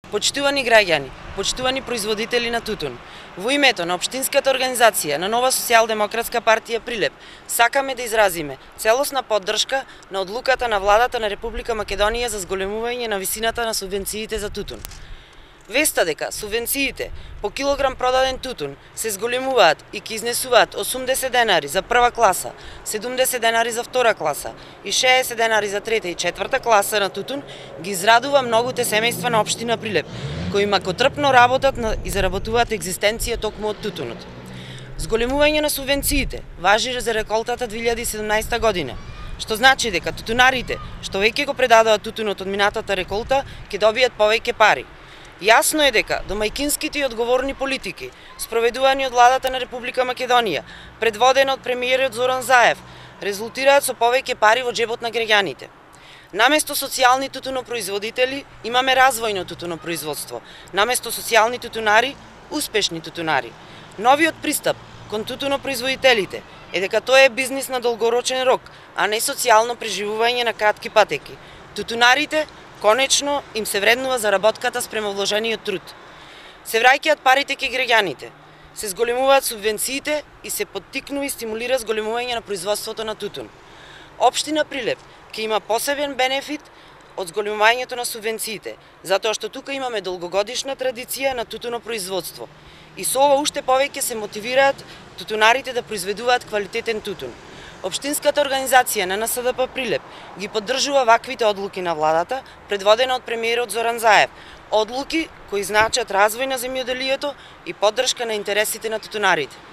Почитувани граѓани, почитувани производители на тутун, во името на општинската организација на Нова социјалдемократска партија Прилеп, сакаме да изразиме целосна поддршка на одлуката на владата на Република Македонија за зголемување на висината на субвенциите за тутун. Веста дека субвенциите по килограм продаден тутун се зголемуваат и ќе изнесуваат 80 денари за прва класа, 70 денари за втора класа и 60 денари за трета и четврта класа на тутун, ги израдува многуте семејства на општина Прилеп, кои макотрпно работат и заработуваат екзистенција токму од тутунот. Зголемување на субвенциите важи за реколтата 2017 година, што значи дека тутунарите што веќе го предадоа тутунот од минатата реколта ќе добијат повеќе пари. Јасно е дека домајкинските и одговорни политики, спроведувани од владата на Република Македонија, предводена од премиерот Зоран Заев, резултираат со повеќе пари во џебот на граѓаните. Наместо социјални тутунопроизводители, имаме развојно тутунопроизводство. Наместо социјални тутунари, успешни тутунари. Новиот пристап кон тутунопроизводителите е дека тоа е бизнис на долгорочен рок, а не социјално преживување на кратки патеки. Тутунарите конечно им се вреднува заработката спрема вложениот труд. Се враќаат парите кај граѓаните, се зголемуваат субвенциите и се поттикнува и стимулира зголемување на производството на тутун. Општина Прилеп ќе има посебен бенефит од зголемувањето на субвенциите, затоа што тука имаме долгогодишна традиција на тутунопроизводство. И со ова уште повеќе се мотивираат тутунарите да произведуваат квалитетен тутун. Општинската организација на НСДП Прилеп ги поддржува ваквите одлуки на владата, предводена од премиерот Зоран Заев, одлуки кои значат развој на земјоделието и поддршка на интересите на тутунарите.